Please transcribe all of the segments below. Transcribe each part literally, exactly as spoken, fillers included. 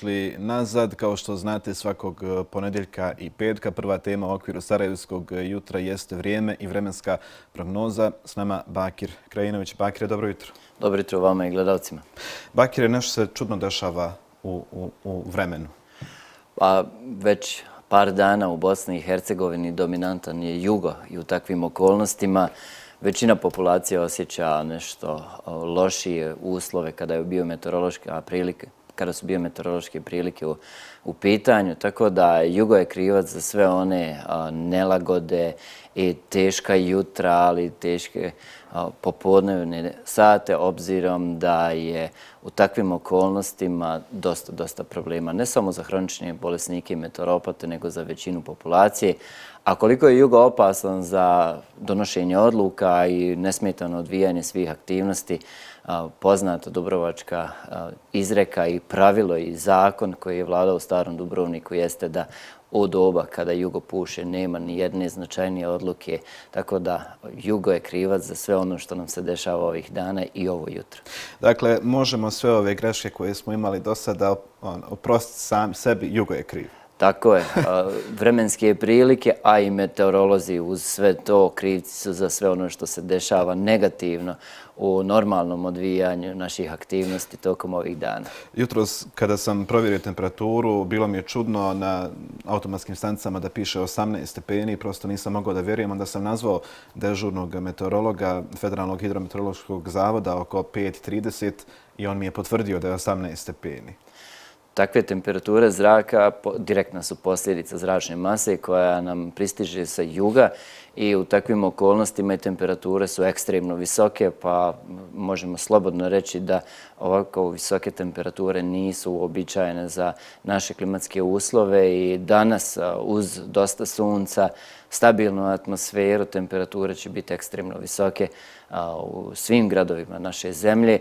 dobrodošli nazad. Kao što znate, svakog ponedjeljka i petka prva tema u okviru Sarajevskog jutra jeste vrijeme i vremenska prognoza. S nama Bakir Krajinović. Bakire, dobro jutro. Dobro jutro vama i gledalcima. Bakire, nešto se čudno dešava u, u, u vremenu. Pa već par dana u Bosni i Hercegovini dominantan je jugo i u takvim okolnostima većina populacije osjeća nešto lošije uslove kada je bio meteorološka prilike, kada su biometeorološke prilike u, u pitanju, tako da jugo je krivac za sve one a, nelagode i teška jutra, ali teške a, popodnevne sate, obzirom da je u takvim okolnostima dosta, dosta problema, ne samo za hronične bolesnike i meteoropate, nego za većinu populacije. A koliko je jugo opasan za donošenje odluka i nesmetano odvijanje svih aktivnosti, poznata dubrovačka izreka i pravilo i zakon koji je vladao u starom Dubrovniku jeste da u doba kada jugo puše nema ni jedne značajnije odluke, tako da jugo je krivac za sve ono što nam se dešava ovih dana i ovo jutro. Dakle, možemo sve ove greške koje smo imali do sada oprostiti sam sebi, jugo je kriv. Tako je. Vremenske prilike, a i meteorolozi uz sve to krivci su za sve ono što se dešava negativno u normalnom odvijanju naših aktivnosti tokom ovih dana. Jutros, kada sam provjerio temperaturu, bilo mi je čudno na automatskim stanicama da piše osamnaest stepeni. Prosto nisam mogao da vjerujem. Onda sam nazvao dežurnog meteorologa Federalnog hidrometeorološkog zavoda oko pet trideset i on mi je potvrdio da je osamnaest stepeni. Takve temperature zraka direktna su posljedica zračne mase koja nam pristiže sa juga i u takvim okolnostima temperature su ekstremno visoke, pa možemo slobodno reći da ovako visoke temperature nisu uobičajene za naše klimatske uslove i danas uz dosta sunca, stabilnu atmosferu, temperature će biti ekstremno visoke u svim gradovima naše zemlje.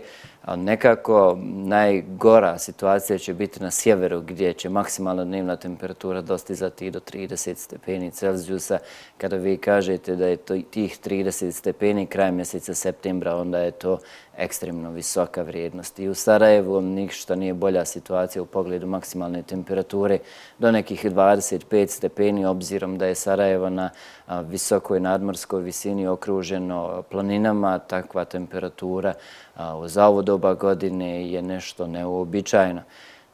Nekako najgora situacija će biti na sjeveru gdje će maksimalna dnevna temperatura dostizati do trideset stepeni Celzijusa. Kada vi kažete da je to tih trideset stepeni krajem mjeseca septembra, onda je to ekstremno visoka vrijednost. I u Sarajevu ništa nije bolja situacija u pogledu maksimalne temperature do nekih dvadeset pet stepeni, obzirom da je Sarajevo na visokoj nadmorskoj visini okruženo planinama. Takva temperatura za ovo doba godine je nešto neuobičajeno.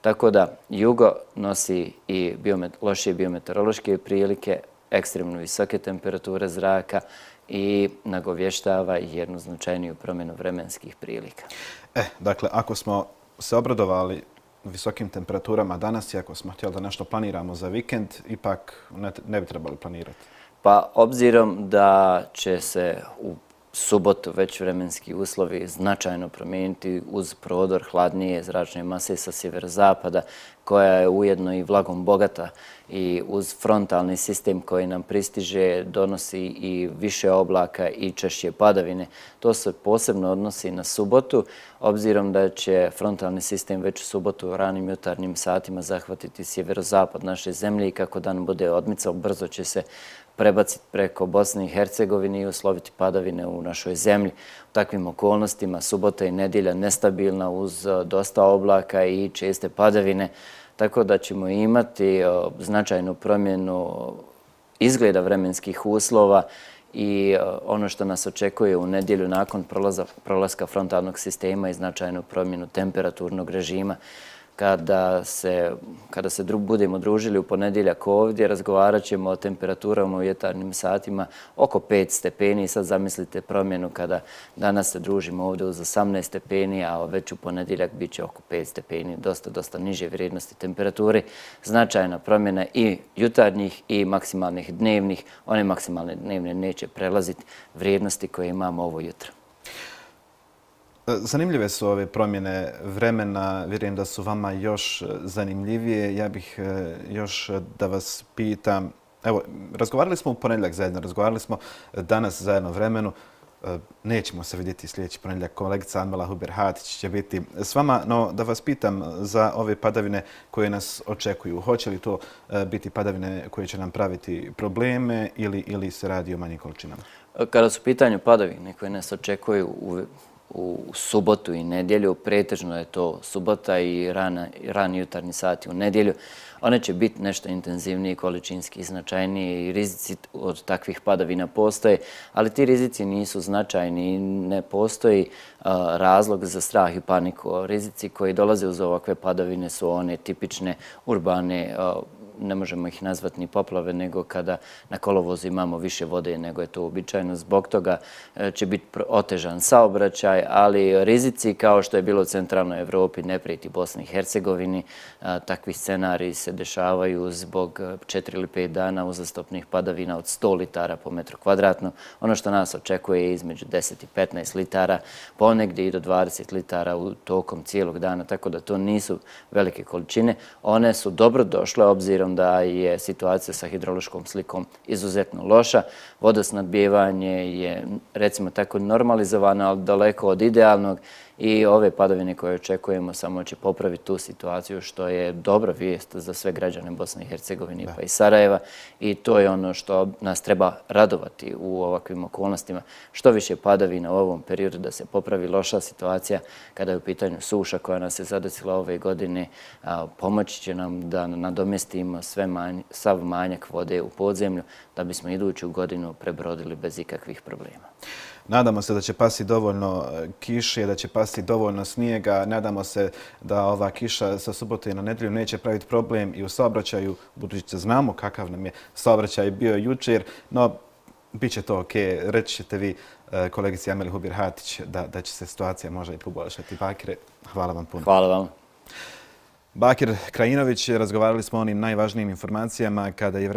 Tako da jugo nosi i biomet, lošije biometeorološke prilike, ekstremno visoke temperature zraka i nagovještava jednu značajniju promjenu vremenskih prilika. E, dakle, ako smo se obradovali visokim temperaturama danas i ako smo htjeli da nešto planiramo za vikend, ipak ne, ne bi trebali planirati. Pa, obzirom da će se u subotu već vremenski uslovi značajno promijeniti uz prodor hladnije zračne mase sa sjeverozapada, koja je ujedno i vlagom bogata i uz frontalni sistem koji nam pristiže donosi i više oblaka i češće padavine. To se posebno odnosi na subotu, obzirom da će frontalni sistem već u subotu u ranim jutarnjim satima zahvatiti sjeverozapad naše zemlje i kako dan bude odmicao, brzo će se prebaciti preko Bosne i Hercegovine i usloviti padavine u našoj zemlji. U takvim okolnostima subota i nedjelja nestabilna uz dosta oblaka i česte padavine, tako da ćemo imati značajnu promjenu izgleda vremenskih uslova i ono što nas očekuje u nedjelju nakon prolaska frontalnog sistema i značajnu promjenu temperaturnog režima. Kada se, kada se dru, budemo družili u ponedjeljak ovdje, razgovarat ćemo o temperaturama u jutarnjim satima oko pet stepeni. Sad zamislite promjenu kada danas se družimo ovdje uz osamnaest stepeni, a već u ponedjeljak bit će oko pet stepeni, dosta, dosta niže vrijednosti temperature. Značajna promjena i jutarnjih i maksimalnih dnevnih. One maksimalne dnevne neće prelaziti vrijednosti koje imamo ovo jutro. Zanimljive su ove promjene vremena, vjerujem da su vama još zanimljivije. Ja bih još da vas pitam, evo, razgovarali smo u ponedjeljak zajedno, razgovarali smo danas zajedno vremenu, nećemo se vidjeti sljedeći ponedjeljak, kolegica Anmela Huber-Hatić će biti s vama, no da vas pitam za ove padavine koje nas očekuju. Hoće li to biti padavine koje će nam praviti probleme ili, ili se radi o manjim količinama? Kada su u pitanju padavine koje nas očekuju u u subotu i nedjelju, pretežno je to subota i rani jutarnji sati u nedjelju, one će biti nešto intenzivnije, količinski značajnije i rizici od takvih padavina postoje, ali ti rizici nisu značajni i ne postoji razlog za strah i paniku. Rizici koji dolaze uz ovakve padavine su one tipične urbane, ne možemo ih nazvati ni poplave, nego kada na kolovozu imamo više vode nego je to uobičajeno. Zbog toga će biti otežan saobraćaj, ali rizici kao što je bilo u centralnoj Evropi ne prijeti Bosni i Hercegovini. Takvi scenariji se dešavaju zbog četiri ili pet dana uzastopnih padavina od sto litara po metru kvadratnom. Ono što nas očekuje je između deset i petnaest litara, ponegdje i do dvadeset litara u tokom cijelog dana, tako da to nisu velike količine. One su dobro došle obzirom da je situacija sa hidrološkom slikom izuzetno loša. Vodosnabdijevanje je, recimo tako, normalizovano, ali daleko od idealnog i ove padavine koje očekujemo samo će popraviti tu situaciju, što je dobra vijest za sve građane Bosne i Hercegovine pa i Sarajeva i to je ono što nas treba radovati u ovakvim okolnostima. Što više padavina u ovom periodu da se popravi loša situacija kada je u pitanju suša koja nas je zadesila ove godine, pomoći će nam da nadomestimo sav manjak vode u podzemlju da bismo iduću godinu prebrodili bez ikakvih problema. Nadamo se da će pasti dovoljno kiše, da će pasti dovoljno snijega. Nadamo se da ova kiša sa subote na nedjelju neće praviti problem i u saobraćaju, budući da znamo kakav nam je saobraćaj bio jučer, no bit će to ok. Reći ćete vi, kolegici Ameli Hubir-Hatić, da, da će se situacija možda i poboljšati. Bakire, hvala vam puno. Hvala vam. Bakir Krajinović, razgovarali smo o onim najvažnijim informacijama kada je vremenska